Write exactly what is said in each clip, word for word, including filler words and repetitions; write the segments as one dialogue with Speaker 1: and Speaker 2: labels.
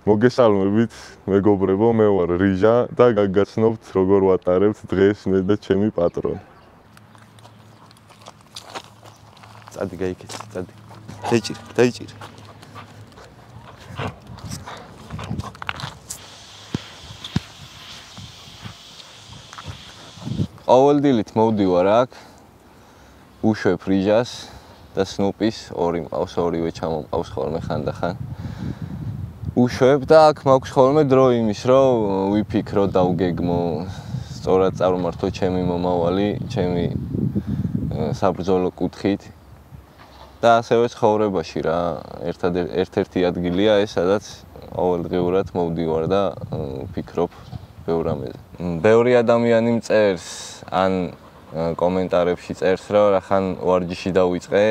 Speaker 1: მოგესალმებით, მეგობრებო, მე ვარ რიჟა და გაგაცნობთ როგორ ვატარებთ დღეს მე და ჩემი პატრონი.
Speaker 2: წადი გაიქეცი, წადი. დაიჭირე, დაიჭირე. ყოველ დილით მოვდივარ აქ, უშვებ რიჟას და სნუპის, ორი მყავს, ორივე ჩამომყავს ხოლმე ხანდახან. უშვებ და აქ მაქვს ხოლმე დრო იმის, რომ ვიფიქრო, დავგეგმო, სწორად წარმართო ჩემი მომავალი, ჩემი საბრძოლო კუთხით. და ასევე ცხოვრებაში რა, ერთ-ერთი ადგილია ეს, სადაც ყოველდღიურად მოვდივარ და ვფიქრობ ბევრ რამეზე. ბევრი ადამიანი მწერს ან კომენტარებში წერს, რომ რახან ვარჯიში დავიწყე,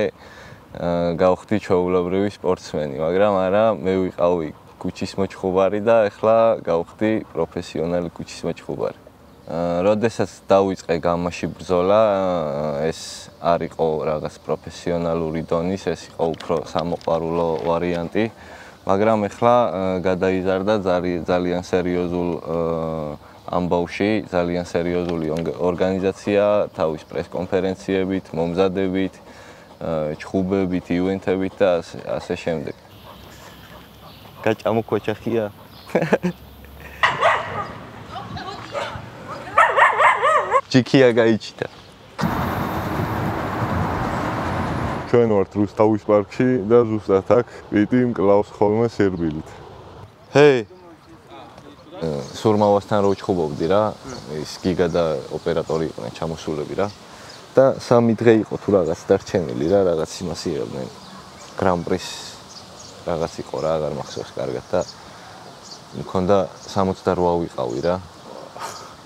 Speaker 2: გავხდი ჩვეულებრივი სპორტსმენი, მაგრამ არა, მე ვიყავი კუჩის მოჭხუბარი და ეხლა გავხდი პროფესიონალი კუჩის მოჭხუბარი. როდესაც დავიწყე გამაში ბრძოლა, ეს არ იყო რაღაც პროფესიონალური დონის, ეს იყო უფრო სამოყვარულო ვარიანტი, მაგრამ ეხლა გადაიზარდა ძალიან სერიოზულ ამბავში, ძალიან სერიოზული ორგანიზაცია, თავის პრესკონფერენციებით, მომზადებით, ჩხუბებით, ივენთებით და ასე შემდეგ. გაჭამო ქოჩახია. ჯიქია გაიჩიტა.
Speaker 1: ჩვენ ვართ რუსთავის პარკში და ზუსტად აქ პიტი მკლავს ხოლმე სერბილით.
Speaker 2: ჰეი. სურმავასთან რო ჩხუბობდი რა, ის გიგა და ოპერატორი იყვნენ ჩამოსულები რა. და სამი დღე იყო თუ რაღაც დარჩენილი რა, რაღაც იმას იღებდნენ. გრან-პრის რაღაც იყო რა, აღარ მახსოვს კარგად და მქონდა სამოცდაოთხ ვიყავი რა.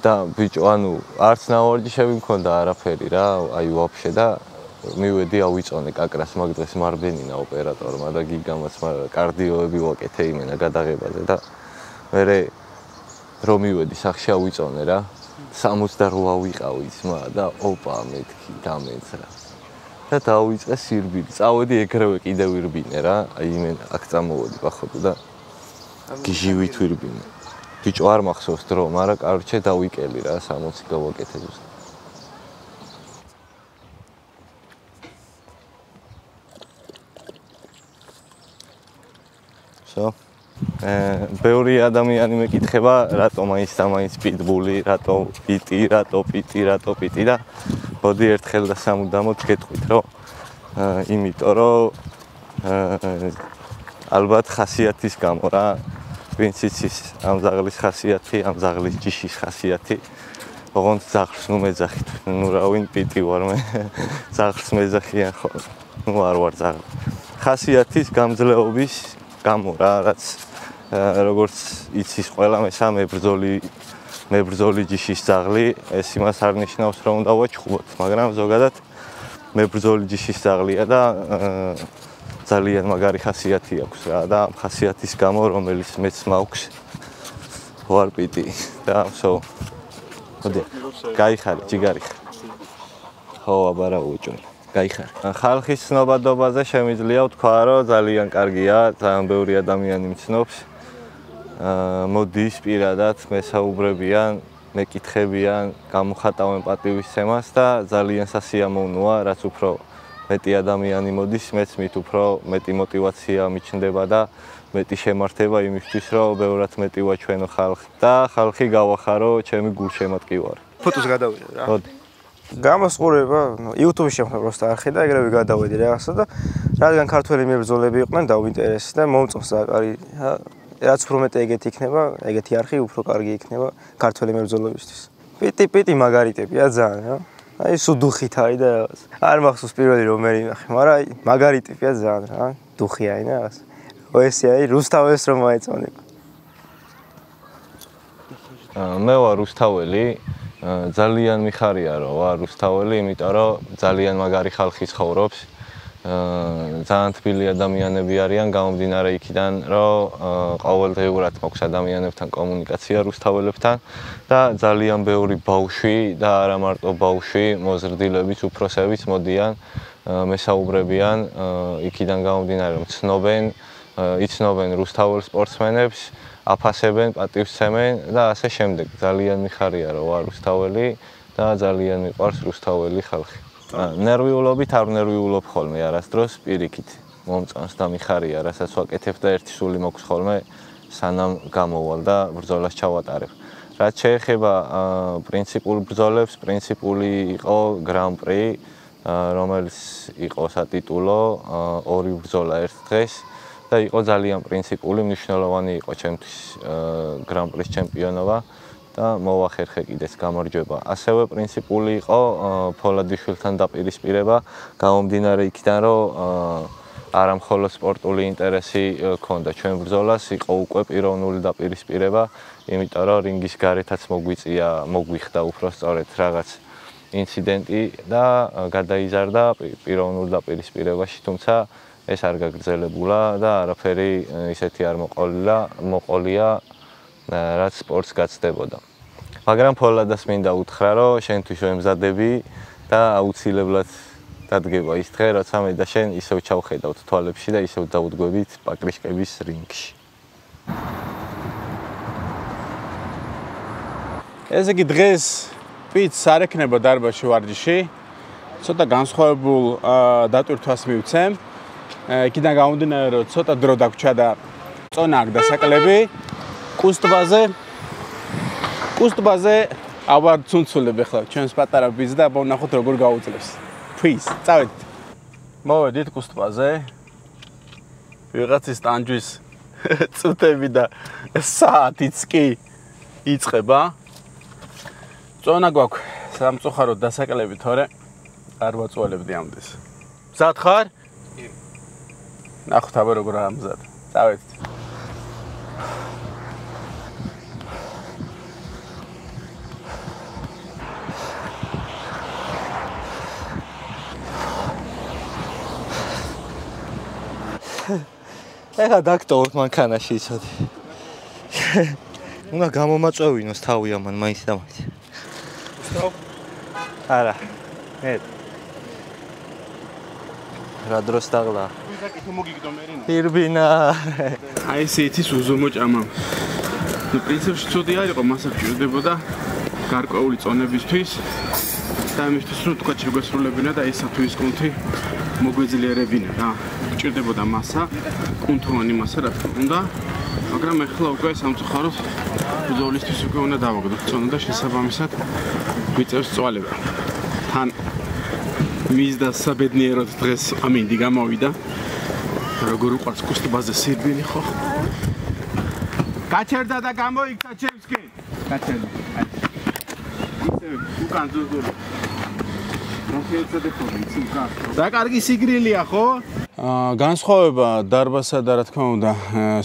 Speaker 2: და ბიჭო, ანუ არც ნავარჯიშები მქონდა არაფერი რა, აი ვაფშე და მივედი ავიწონე კაკრას მაგ დღეს მარბენინა ოპერატორმა და გიგამაც კარდიოები ვაკეთე იმენა გადაღებაზე და მერე რომ მივედი სახში ავიწონე რა, სამოცდაოთხ ვიყავი ძმა და ოპა მეთქი დამეცრა. და დავიწყე სირბილი. წავედი ეგრევე კიდევ ვირბინე რა, აი იმენა აქ წამოვედი ბახოდო და გიჟივით ვირბინე. ბიჭო არ მახსოვს დრო, მაგრამ კარჩე დავიკელი რა, სამოცი გავაკეთე ზუსტად. So, ბევრი ადამიანი მეკითხება, რატო მაინც და მაინც პიტბული, რატო პიტი, რატო პიტი, რატო პიტი და მოდი ერთხელ და სამუდამოდ გეტყვით, რომ იმიტომ რომ ალბათ ხასიათის გამო რა, ვინც იცის ამ ზაღლის ხასიათი, ამ ზაღლის ჯიშის ხასიათი, ოღონდ ზაღლს ნუ მეძახით, ნუ რა ვინ პიტი ვარ მე, ზაღლს მეძახიან ხო, ნუ არ ვარ ზაღლი. ხასიათის გამძლეობის გამო რა, რაც როგორც იცის ყველა მესა მებრძოლი მებრძოლი ჯიშის ზაღლი, ეს იმას არ ნიშნავს რომ უნდა ვაჩხუბოთ, მაგრამ ზოგადად მებრძოლი ჯიშის ზაღლია და ძალიან მაგარი ხასიათი აქვს რა და ამ ხასიათის გამო რომელიც მეც მაქვს ვარ პიტი და so მოდი გაიხარე ჯიგარი ხო აბარა უჭუნ გაიხარე ხალხის ცნობადობაზე შემიძლია ვთქვა რომ ძალიან კარგია ძალიან ბევრი ადამიანი მცნობს მოდის პირადად მესაუბრებიან მეკითხებიან გამოხატავენ პატივისცემას და ძალიან სასიამოვნოა რაც უფრო მეტი ადამიანი მოდის, მეც მით უფრო მეტი мотиваცია მიჩნდება და მეტი შემართება იმისთვის, რომ ბევრად მეტი ვაჩვენო ხალხს და ხალხი გავახარო ჩემი გულშემატკივარი.
Speaker 3: ფოტოს გადავიდე რა.
Speaker 2: მოდი.
Speaker 3: გამოსყურება, YouTube-ში შემხნე პროსტა არხი და ეგრევე გადავედი რაღაცა და რადგან ქართველი მებრძოლები იყვნენ დავინტერესდი და მომწონს და კარგი რაც უფრო მეტი ეგეთი იქნება, ეგეთი არხი უფრო კარგი იქნება ქართველი მებრძოლებისთვის. პიტი პიტი მაგარი ტიპია ძალიან რა. აი სულ დუხით არის და რაღაც. არ მახსოვს პირველი რომ მე ნახე, მაგრამ აი მაგარი ტიპია ძალიან რა. დუხია აი რაღაც. ოესი აი რუსთაველს რომ აეწონება.
Speaker 2: მე ვარ რუსთაველი. ძალიან მიხარია რომ ვარ რუსთაველი, იმიტომ რომ ძალიან მაგარი ხალხი ცხოვრობს. ძალიან თბილი ადამიანები არიან გამომდინარე იქიდან, რომ ყოველდღიურად მაქვს ადამიანებთან კომუნიკაცია რუსთაველებთან და ძალიან ბევრი ბავშვი და არა მარტო ბავშვი, მოზრდილებიც, უფროსებიც მოდიან, მესაუბრებიან იქიდან გამომდინარე რომ ცნობენ იცნობენ რუსთაველ სპორტსმენებს, აფასებენ, პატივსცემენ და ასე შემდეგ. ძალიან მიხარია რომ ვარ რუსთაველი და ძალიან მიყვარს რუსთაველი ხალხი. ნერვიულობით არ ნერვიულობ ხოლმე არასდროს პირიქით. მომწონს და მიხარია, რასაც ვაკეთებ და ერთი სული მოქვს ხოლმე სანამ გამოვალ და ბრძოლას ჩავატარებ. რაც შეეხება პრინციპულ ბრძოლებს, პრინციპული იყო გრან-პრი, რომელიც იყო სატიტულო ორი ბრძოლა ერთ დღეს და იყო ძალიან პრინციპული, მნიშვნელოვანი იყო ჩემთვის გრან-პრის ჩემპიონობა და მოვახერხე კიდეც გამარჯვება. ასევე პრინციპული იყო ფოლადიშვილთან დაპირისპირება, გამომდინარე იქიდან, რომ არა მხოლოდ სპორტული ინტერესი ჰქონდა ჩვენ ბრძოლას, იყო უკვე პიროვნული დაპირისპირება, იმიტომ რომ რინგის გარეთაც მოგვიწია, მოგვიხდა უფრო სწორედ რაღაც ინციდენტი და გადაიზარდა პიროვნულ დაპირისპირებაში, თუმცა ეს არ გაგრძელებულა და არაფერი ისეთი არ მოყოლილა, მოყოლია, რაც სპორტს გაცდებოდა. მაგრამ ფოლადას მინდა უთხრა, რომ შენთვის ვემზადები და აუცილებლად დადგება ის დღე, როცა მე და შენ ისევ ჩავხედავთ თვალებში და ისევ დავუდგებით პაკრიშკების რინგში.
Speaker 4: ესე იგი დღეს პიც არ ექნება დარბაზში ვარჯიში. ცოტა განსხვავებულ დატვირთვას მივცემ. იქიდან გამომდინარე, რომ ცოტა დრო დაგვრჩა და წონა აქ დასაკლები. კუსტბაზე კუსტბაზე ავარ ცუნცულებ ახლა ჩვენს პატარა ბიზ და ვნახოთ როგორ გაუძლებს. Please, წავედით. მოვედით კუსტბაზე. ვიღაცის ტანჯვის წუთები და საათიც კი იწყება. წონა გვაქვს სამწუხაროდ დასაკლები თორე არ ვაწუალებდი ამდენს. მზად ხარ? კი. ნახოთ აბა როგორ ამზად. წავედით.
Speaker 2: ეხლა დაგტოვოთ მანქანაში იცოდი. უნდა გამომაწვევინოს თავი ამან მაინც და მაინც.
Speaker 4: Stop.
Speaker 2: არა. მე რა დროს დაღლა?
Speaker 4: ვიზაკითო მოგიგდო მერინა.
Speaker 2: ირბინა.
Speaker 4: აი ესე იცის უზომო ჭამა. ნუ პრინციპში ცუდი არ იყო, მასა გჭირდებოდა გარკვეული წონებისთვის და ამისთვის რომ თქვა შეგვესრულებინა და ესა თუ ის კუნთი მოგვეძლიერებინა რა. გჭირდებოდა მასა, კუნთოვანი მასა რა თქმა უნდა, მაგრამ ეხლა უკვე სამწუხაროდ ბრძოლისთვის უკვე უნდა დავაგდოთ წონა და შესაბამისად გვიწევს წვალება. თან მისდა საბედნიეროდ დღეს ამინდი გამოვიდა. როგორ უყვარს კუსტბაზე სირბილი ხო? გაჩერდა და გამოიქცა ჩემსკი. გაჩერდა. აი. ისე უკან ზუზული. და კარგი სიგრილია ხო? აა განსხვავება დარბაზსა და რა თქმა უნდა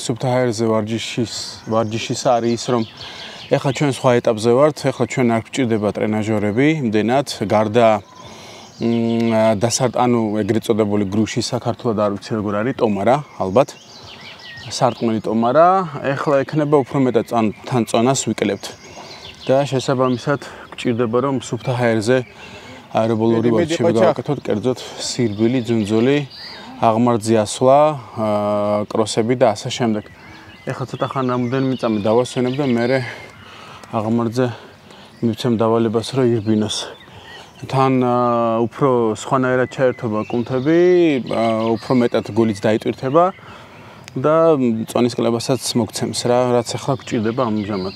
Speaker 4: სუფთა ჰაერზე ვარჯიშის ვარჯიშის არის ის რომ ეხლა ჩვენ სხვა ეტაპზე ვართ, ეხლა ჩვენ არ გვჭირდება ტრენაჟორები, იმდენად გარდა დასარტ ანუ ეგრეთ წოდებული გრუში საქართველოს არ ვიცი როგორ არის, ტომარა ალბათ. სარტყმელი ტომარა, ეხლა ექნება უფრო მეტად თან წონას ვიკლებთ. და შესაბამისად გვჭირდება რომ სუფთა ჰაერზე აერობოლური ვარჯიშები გავაკეთოთ, კერძოდ სირბილი, ძუნძული, აღმართზე ასვლა, კროსები და ასე შემდეგ. ეხლა ცოტა ხან რამოდენიმე მიწამი დავასვენებ და მე აღმართზე მივცემ დავალებას რომ ირბინოს. თან უფრო სხვანაირად ჩაერთვება კუნთები, უფრო მეტად გულიც დაიტვირთება და წონის კლებასაც მოგცემს რა, რაც ახლა გვჭირდება ამჟამად.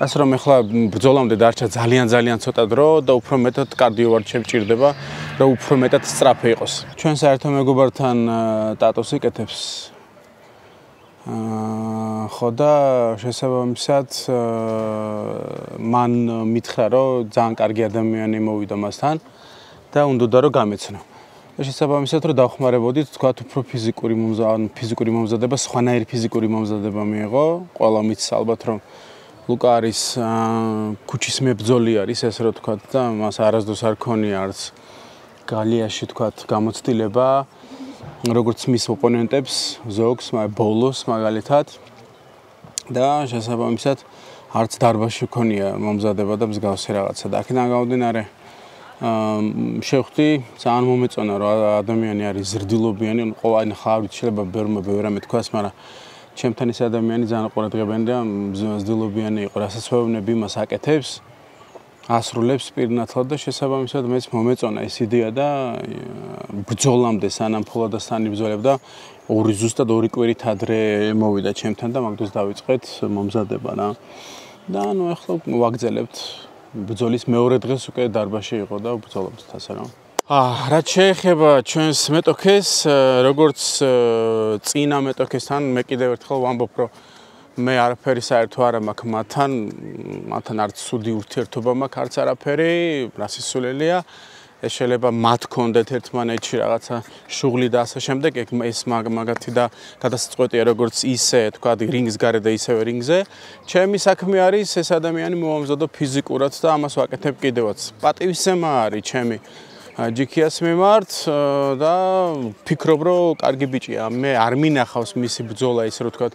Speaker 4: ასე რომ ახლა ბრძოლამდე დარჩა ძალიან ძალიან ცოტა დრო და უფრო მეტად კარდიო ვარჯიშები ჭირდება, რომ უფრო მეტად სწრაფი იყოს. ჩვენ საერთო მეგობართან ტატოს იკეთებს. აა ხო და შესაბამისად მან მითხრა, რომ ძალიან კარგი ადამიანი მოვიდა მასთან და უნდოდა რომ გამეცნო. და შესაბამისად რომ დავხმარებოდით, თქვათ უფრო ფიზიკური მომზადება, ფიზიკური მომზადება, სხვანაირი ფიზიკური მომზადება მიიღო. ყველა მის ალბათ რომ ლუკა არის ქუჩის მებრძოლი არის, ესე რომ თქვათ და მას არასდროს არ ქონია არც გალიაში თქვათ გამოცდილება, როგორც მის ოპონენტებს, ზოგს, ბოლოს მაგალითად და შესაბამისად არც დარბაზში ქონია მომზადება და მსგავსი რაღაცა. და აქედან გამომდინარე შევხვდი ძალიან მომეწონა რომ ადამიანი არის ზრდილობიანი, ყოველი ხარით შეიძლება ბევრმა ბევრი რამე თქვას, მაგრამ ჩემთან ის ადამიანი ძალიან ყურადღებიანი და ზრდილობიანი იყო, რასაც ვეუბნები იმას აკეთებს, ასრულებს პირნათლად და შესაბამისად მეც მომეწონა ეს იდეა და ბრძოლამდე სანამ ფოლადასთან იბრძოლებდა ორი ზუსტად ორი კვირით ადრე მოვიდა ჩემთან და მაგ დროს დავიწყეთ მომზადება რა. და ნუ ახლა ვაგრძელებთ ბრძოლის მეორე დღეს უკვე დარბაზში იყო და ვბრძოლებთ ასე რა. აა რაც შეეხება ჩვენს მეტოქეს, როგორც წინა მეტოქესთან მე კიდევ ერთხელ ვამბობ, რომ მე არაფერი საერთო არ მაქვს მათთან, მათთან არც სუდი ურთიერთობა მაქვს, არც არაფერი, რასისულელია. ეს შეიძლება მათ კონდეთ ერთმანეთში რაღაცა შუღლი და ასე შემდეგ, ეს მაგათი და გადასწყვეტია როგორც ისე, თქვა, რინგის გარეთ და ისევე რინგზე. ჩემი საქმე არის ეს ადამიანი მოვამზადო ფიზიკურად და ამას ვაკეთებ კიდევაც. პატივისცემა არის ჩემი ჯიქიას მიმართ და ფიქრობ, რომ კარგი ბიჭია. მე არ მინახავს მისი ბრძოლა ისე რომ თქვა,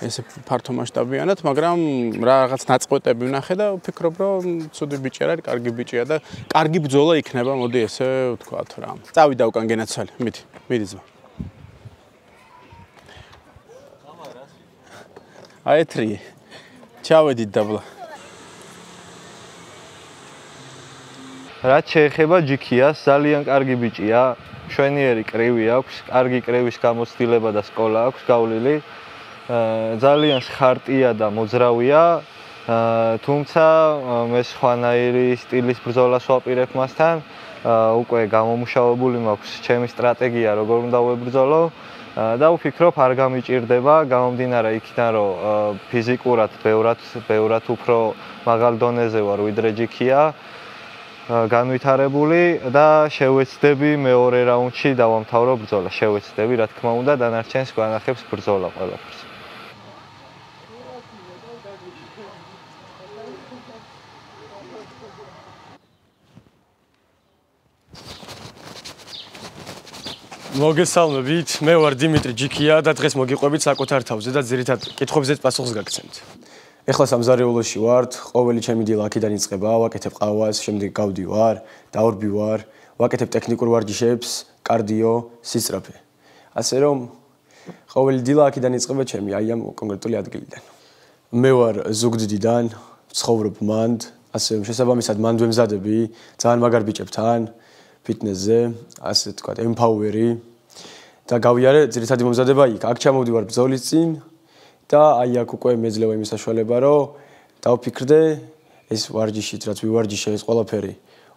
Speaker 4: ესე ფართო მასშტაბიანად, მაგრამ რაღაც ნაწყვეტები ვნახე და ვფიქრობ, რომ ცუდი ბიჭი არის, კარგი ბიჭია და კარგი ბრძოლა იქნება, მოდი ესე ვთქვათ რა. წავიდა უკან გენაცვალე, მიდი, მიდი ძმა. აეთრი. ჩავედით დაბლა.
Speaker 2: რაც შეეხება ჯიქიას, ძალიან კარგი ბიჭია, მშვენიერი კრივი აქვს, კარგი კრივის გამოცდილება და სკოლა აქვს გავლილი. ძალიან ხარტია და მოძრავია, თუმცა მე სხვანაირი სტილის ბრძოლას ვაპირებ მასთან, უკვე გამომუშავებული მაქვს ჩემი სტრატეგია, როგორ უნდა ვებრძოლო და ვფიქრობ, არ გამიჭირდება, გამომდინარე იქიდან, რომ ფიზიკურად ბევრად, ბევრად უფრო მაღალ დონეზე ვარ ვიდრე ჯიქია. განვითარებული და შევეცდები მეორე რაუნდში დავამთავრო ბრძოლა. შევეცდები, რა თქმა უნდა, დანარჩენს გვანახებს ბრძოლა ყველაფერს.
Speaker 5: მოგესალმებით, მე ვარ დიმიტრი ჯიქია და დღეს მოგიყვებით საკუთარ თავზე და ძირითად კითხვებზე პასუხს გაგცემთ. ეხლა სამზარეულოში ვართ, ყოველი ჩემი დილა აქედან იწყება, ვაკეთებ ყავას, შემდეგ გავდივარ, დავრბივარ, ვაკეთებ ტექნიკურ ვარჯიშებს, კარდიო, სისწრაფე. ასე რომ ყოველი დილა აქედან იწყება ჩემი აი ამ კონკრეტული ადგილიდან. მე ვარ ზუგდიდიდან, ცხოვრობ მანდ, ასე რომ შესაბამისად მანდ ვემზადები, ძალიან მაგარ ბიჭებთან, ფიტნესზე, ასე თქვა, ემპაუერი და გავიარე ძირითადი მომზადება იქ. აქ ჩამოვდივარ ბრძოლის წინ და აი აქ უკვე მეძლევა იმის საშუალება, რომ დავფიქრდე ეს ვარჯიშით, რაც ვივარჯიშე, ეს ყველაფერი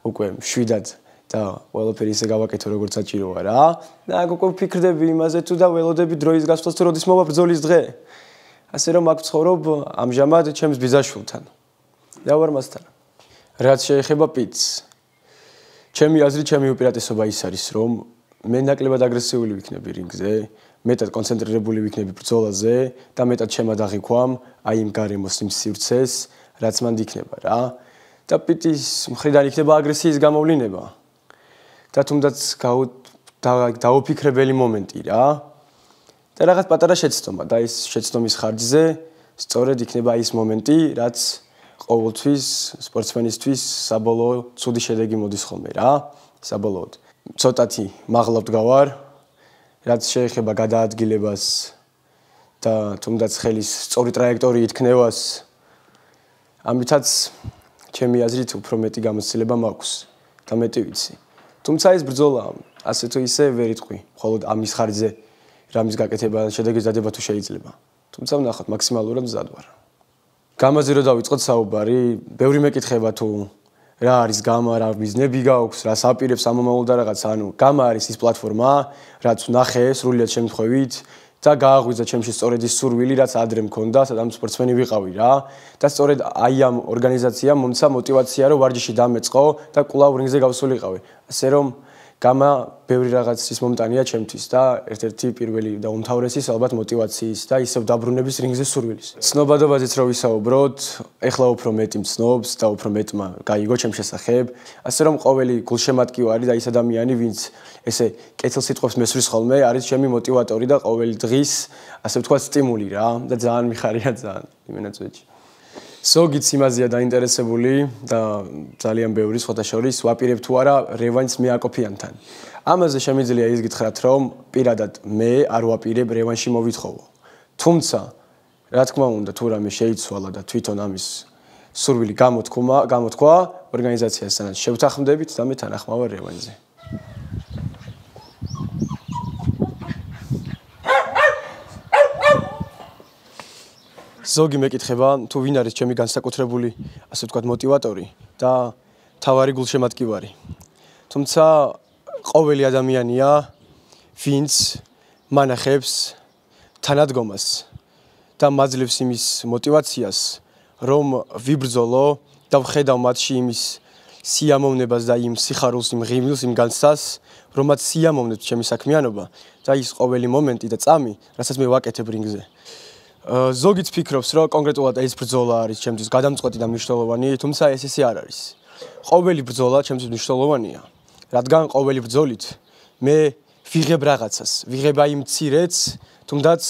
Speaker 5: უკვე მშვიდად და ყველაფერი ისე გავაკეთო, როგორც საჭიროა რა. და აქ უკვე ვფიქრდები იმაზე თუ და ველოდები დროის გასვლას, თუ როდის მოვა ბრძოლის დღე. ასე რომ აქ ვცხოვრობ ამჟამად ჩემს ბიძაშვილთან. და ვარ მასთან. რაც შეეხება პიტს. ჩემი აზრით, ჩემი უპირატესობა ის არის, რომ მე ნაკლებად აგრესიული ვიქნები რინგზე. მეტად კონცენტრირებული ვიქნები ბრძოლაზე და მეტად შემადაღიქვამ აი იმ გარემოს იმ სივრცეს, რაც მანდ იქნება რა. და პიტის მხრიდან იქნება აგრესიის გამოვლინება. და თუნდაც დაუფიქრებელი მომენტი რა. და რაღაც პატარა შეცდომა და ის შეცდომის ხარჯზე სწორედ იქნება ის მომენტი, რაც ყოველთვის სპორტსმენისთვის საბოლოო ცუდი შედეგი მოდის ხოლმე რა. საბოლოოდ ცოტათი მაღლა ვდგავარ, რაც შეეხება გადაადგილებას და თუნდაც ხელის სწორი ტრაექტორიით ქნევას, ამითაც ჩემი აზრით უფრო მეტი გამოცდილება მაქვს და მეტი ვიცი. თუმცა ეს ბრძოლა ასე თუ ისე ვერ იტყვი, მხოლოდ ამის ხარჯზე რამის გაკეთება, შედეგის დადება თუ შეიძლება. თუმცა ვნახოთ, მაქსიმალურად მზად ვარ. გამაზე რომ დავიწყოთ საუბარი, ბევრი მეკითხება თუ რა არის გამა, რა მიზნები გაქვს, რას აპირებს ამომავალ და რაღაც, ანუ გამა არის ის პლატფორმა, რაც ვნახე სრულიად შემთხვევით და გააღვიძა ჩემში სწორედ ის სურვილი, რაც ადრე მქონდა, სადამ სპორტსმენი ვიყავი რა. და სწორედ აი ამ ორგანიზაციამ მომცა мотиваცია, რომ ვარჯიში დამეწყო და კვლავ რინგზე გავსულიყავი. ასე რომ გამა ბევრი რაღაცის მომტანია ჩემთვის და ერთ-ერთი პირველი და უმთავრესის ალბათ мотиваციის და ისევ დაბრუნების რინგზე სურვილის. ცნობადობაზეც რო ვისაუბროთ, ეხლა უფრო მეტი მცნობს და უფრო მეტმა გაიგო ჩემ შესახებ, ასე რომ ყოველი გულშემატკივარი და ის ადამიანი, ვინც ესე კეთილ სიტყვებს მესვრის ხოლმე, არის ჩემი мотиваტორი და ყოველი დღის, ასე ვთქვათ, სტიმული რა და ძალიან მიხარია ძალიან იმენაწვეჭი. ზოგიც იმაზეა დაინტერესებული და ძალიან ბევრი სხვათა შორის ვაპირებ თუ არა რევანშს მეაკოფიანთან. ამაზე შემიძლია ის გითხრათ, რომ პირადად მე არ ვაპირებ რევანში მოვითხოვო. თუმცა რა თქმა უნდა თუ რამე შეიცვალა და თვითონ ამის სურვილი გამოთქვა, გამოთქვა ორგანიზაციასთან შევთანხმდებით და მე თანახმავარ რევანშზე. ზოგი მეკითხება თუ ვინ არის ჩემი განსაკუთრებული ასე ვთქვათ мотиваტორი და თავარი გულშემატკივარი. თუმცა ყოველი ადამიანია ვინც მანახებს თანადგომას და მაძლევს იმის мотиваციას რომ ვიბრძოლო და ვხედავ მათში იმის სიამოვნებას და იმ სიხარულს, იმ ღიმილს, იმ განცდას, რომაც სიამოვნებს ჩემი საქმიანობა და ის ყოველი მომენტი და წამი, რასაც მე ვაკეთებ რინგზე. ზოგიც ფიქრობს, რომ კონკრეტულად ეს ბრძოლა არის ჩემთვის გადამწყვეტი და მნიშვნელოვანი, თუმცა ეს ესე არ არის. ყოველი ბრძოლა ჩემთვის მნიშვნელოვანია, რადგან ყოველი ბრძოლით მე ვიღებ რაღაცას, ვიღებ აი მცირეც, თუნდაც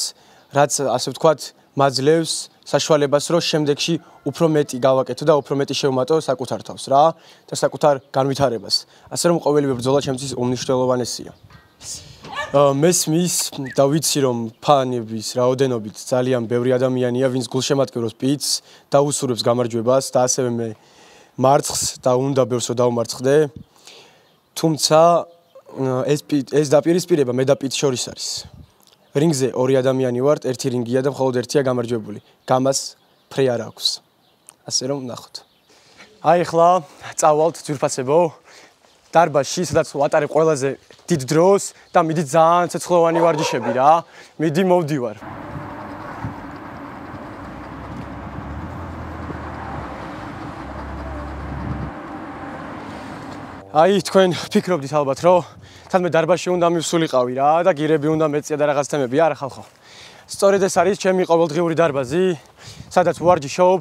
Speaker 5: რაც ასე ვთქვათ, მაძლევს საშუალებას, რომ შემდეგში უფრო მეტი გავაკეთო და უფრო მეტი შევმატო საკუთარ თავს რა და საკუთარ განვითარებას. ასე რომ ყოველივე ბრძოლა ჩემთვის უმნიშვნელოვანესია. მესმის და ვიცი რომ ფანების რაოდენობით ძალიან ბევრი ადამიანია, ვინც გულშემატკივრობს პიტს და უსურვებს გამარჯვებას და ასევე მე მარცხს და უნდა ბევრს რომ დავმარცხდე. თუმცა ეს ეს დაპირისპირება მე და პიტს შორის არის. რინგზე ორი ადამიანი ვართ, ერთი რინგია და მხოლოდ ერთია გამარჯვებული. გამას ფრე არ აქვს. ასე რომ ნახოთ. აი ახლა წავალთ ძვირფასებო დარბაზში, სადაც ვატარებ ყველაზე დიდ დროს და მიდი ძალიან ცეცხლოვანი ვარჯიშები რა. მიდი მოვდივარ. აი თქვენ ფიქრობდით ალბათ, რომ თან მე დარბაზში უნდა მივსულიყავი რა და გირები უნდა მეწია და რაღაც თემები, არა ხალხო. სწორედ ეს არის ჩემი ყოველდღიური დარბაზი, სადაც ვარჯიშობ,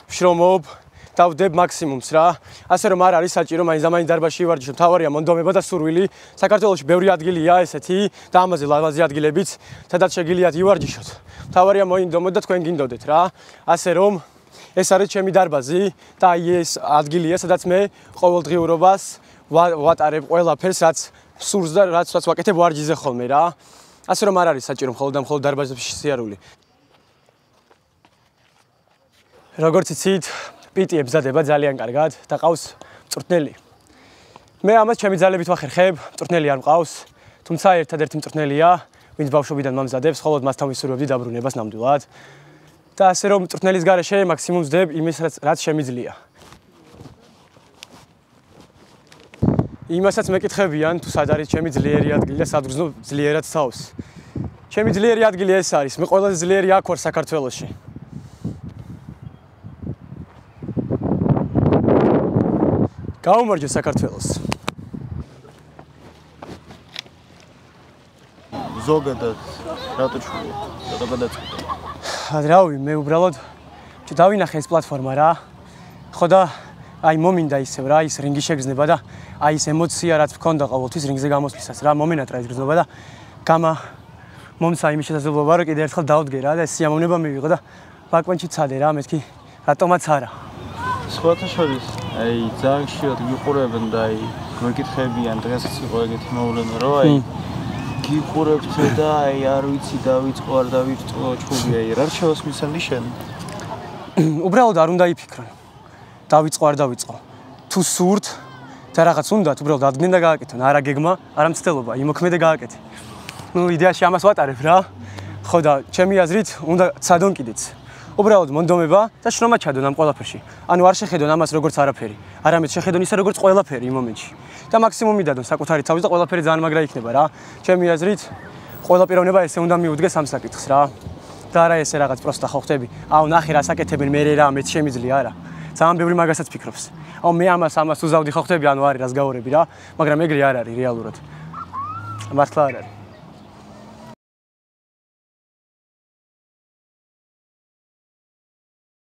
Speaker 5: ვშრომობ და ვდებ მაქსიმუმს რა. ასე რომ არ არის საჭირო მაინც ამაინც დარბაზში ვარჯიშობ. თავარია მონდომება და სურვილი. საქართველოში ბევრი ადგილია ესეთი და ამაზე ლავაზი ადგილებიც, სადაც შეგიძლიათ ივარჯიშოთ. თავარია მოინდომოთ და თქვენ გინდოდეთ რა. ასე რომ ეს არის ჩემი დარბაზი და აი ეს ადგილია, სადაც მე ყოველდღიურობას ვატარებ ყველაფერს, რაც სურს და რაც რაც ვაკეთებ ვარჯიშზე ხოლმე რა. ასე რომ არ არის საჭირო მხოლოდ და მხოლოდ დარბაზებში სიარული. როგორც იცით, პიტი ებზადება ძალიან კარგად და ყავს მწვრთნელი. მე ამას ჩემი ძალებით ვახერხებ, მწვრთნელი არ მყავს, თუმცა ერთადერთი მწვრთნელია, ვინც ბავშვობიდან მომზადებს, ხოლოდ მასთან ვისურვებდი დაბრუნებას ნამდვილად. და ასე რომ მწვრთნელის გარეშე მაქსიმუმს ვდებ იმის, რაც შემიძლია. იმასაც მეკითხებიან, თუ სად არის ჩემი ძლიერი ადგილი და სად ვგრძნობ ძლიერად თავს. ჩემი ძლიერი ადგილი ეს არის, მე ყველაზე ძლიერი აქ ვარ საქართველოში. გაუმარჯო საქართველოს.
Speaker 6: ზოგადად რატო ჩულა? რატო გადაწყვეტა?
Speaker 5: რავი, მე უბრალოდ დავინახე ეს პლატფორმა რა. ხო და აი მომინდა ისევ რა, ის რინგი შეგრძნება და აი ეს ემოცია რაც მქონდა ყოველთვის რინგზე გამოსვლისას რა, მომენატრა ეს გრძნობა და გამა მომცა იმის შესაძლებლობა რომ კიდე ერთხელ დავდგე რა და ეს სიამოვნება მივიღო და ბაკვანში ცადე რა, მეთქი რატომაც არა.
Speaker 6: სხვათა შორის აი ძალიან ხშირად გიყურებენ და აი მეკითხებიან დღესაც იყო ეგეთი მოვლენა რომ აი გიყურებთ და აი არ ვიცი დავიწყო არ დავიწყო ჩხუბი აი რა რჩევას მისცემდი შენ?
Speaker 5: უბრალოდ არ უნდა იფიქრონ. დავიწყო არ დავიწყო. თუ სურთ და რაღაც უნდათ, უბრალოდ ადგენდა გააკეთონ, არა გეგმა, არა მცდელობა, იმოქმედე გააკეთე. ნუ იდეაში ამას ვატარებ რა. ხო და ჩემი აზრით უნდა ცადონ კიდეც. უბრალოდ მონდომება და შრომა ჩადონ ამ ყველაფერში. ანუ არ შეხედონ ამას როგორც არაფერი, არამედ შეხედონ ისე როგორც ყველაფერი იმ მომენტში. და მაქსიმუმი დადონ საკუთარი თავის და ყველაფერი ძალიან მაგრა იქნება რა. ჩემი აზრით ყველა პიროვნება ესე უნდა მიუდგეს ამ საკითხს რა. და არა ესე რაღაც პროსტა ხო ხტები. აუ ნახე რა საკეთებენ მე რა მეც შემიძლია არა. ძალიან ბევრი მაგასაც ფიქრობს. აუ მე ამას ამას უზავდი ხო ხტები, ანუ არის რას გავორები რა, მაგრამ ეგრე არ არის რეალურად. მართლა არ არის.